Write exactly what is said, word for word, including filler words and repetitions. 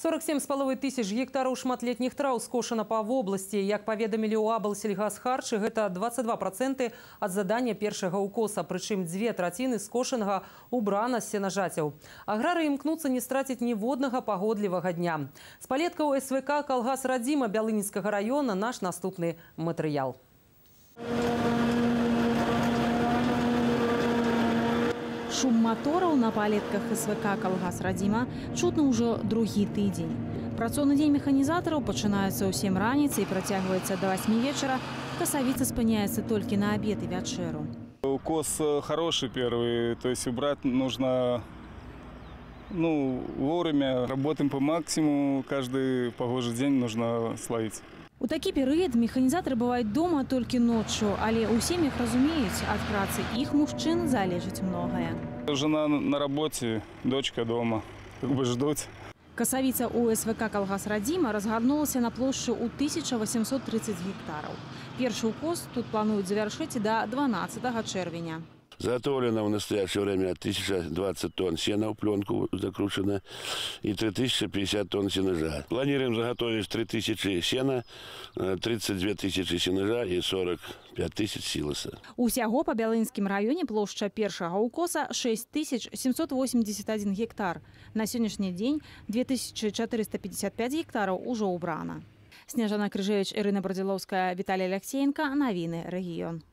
сорок семь с половиной тысяч гектаров шматлетних трав скошено по области. Як поведомили у Аблсельгасхарчы, это двадцать два процента от задания першага укоса. Причем две третины скошенного убрано с сенажател. Аграры имкнутся не стратить ни водного погодливого дня. С палетка у СВК «Колгас Радима» Бялынинского района наш наступный материал. Шум мотораў на палетках СВК «Колгас Радима» чутно ўжо другі тыдзень. Працоўны дзень механізатараў пачынаецца ў сем раніцы і працягваецца до восьми вечера. Косовица спыняецца только на обед и вечеру. Укос хороший первый, то есть убрать нужно ну, вовремя. Работаем по максимуму, каждый погожий день нужно словить. У такі перыяд механізатары бываюць дома толькі ноччу, але ў сем'ях разумеюць, ад працы іх мужчын залежыць многае. Жена на работе, дочка дома, как бы ждут. Косовица у СВК «Колгас Радима» разгарнулася на плошчы ў тысячу восемьсот тридцать гектаров. Першы укос тут плануюць завяршыць до дванаццатага чэрвеня. Заготовлено в настоящее время тысяча двадцать тонн сена в пленку закручено и три тысячи пятьдесят тонн сенажа. Планируем заготовить три тысячи сена, тридцать две тысячи сенажа и сорок пять тысяч силоса. Усяго по Бялынскім раёне плошча першага укоса шесть тысяч семьсот восемьдесят один гектар. На сегодняшний день две тысячи четыреста пятьдесят пять гектаров уже убрано. Снежана Крыжевич, Ирина Бродиловская, Виталий Алексеенко. Новины регион.